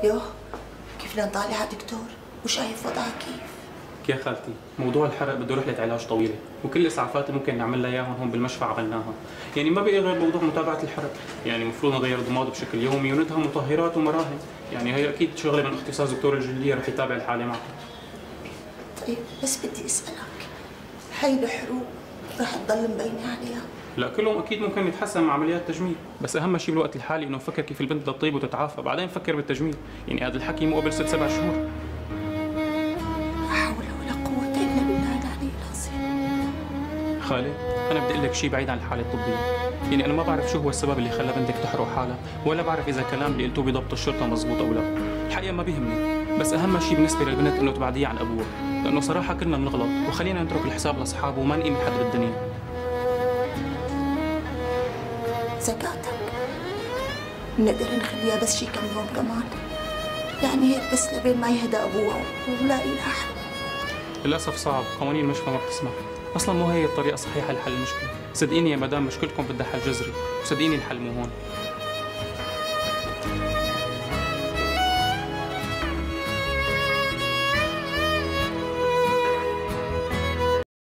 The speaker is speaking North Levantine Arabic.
يوه، كيف بدنا نطالع دكتور؟ وشايف وضعها كيف؟ يا خالتي موضوع الحرق بده رحلة علاج طويلة، وكل الإسعافات اللي ممكن نعمل لها إياهم هون بالمشفى عملناها، يعني ما بقي غير موضوع متابعة الحرق، يعني المفروض نغير ضماد بشكل يومي وندهم مطهرات ومراهم، يعني هي أكيد شغلة من اختصاص دكتور الجلدية رح يتابع الحالة معها. طيب بس بدي أسألك، هاي الحروق رح تضل مبينة عليها؟ لا كلهم أكيد ممكن يتحسن مع عمليات تجميل، بس أهم شيء بالوقت الحالي إنه نفكر كيف البنت بدها تطيب وتتعافى، بعدين نفكر بالتجميل، يعني هذا الحكي مو قبل 6 7 شهور. خالد، أنا بدي أقول لك شيء بعيد عن الحالة الطبية، يعني أنا ما بعرف شو هو السبب اللي خلى بنتك تحرق حالها، ولا بعرف إذا الكلام اللي قلتوه بضبط الشرطة مزبوط أو لا، الحقيقة ما بيهمني، بس أهم شيء بالنسبة للبنت إنه تبعديها عن أبوها، لأنه صراحة كلنا بنغلط، وخلينا نترك الحساب لأصحابه وما نقيم حد بالدنيا. زكاتك بنقدر نخليها بس شي كم يوم كمان، يعني هيك بس لبين ما يهدى أبوها ونلاقي لها حل. للأسف صعب، قوانين المشفى ما بتسمح، أصلا مو هي الطريقة الصحيحة لحل المشكلة، صدقيني يا مدام مشكلتكم بدها حل جذري، وصدقيني الحل مو هون.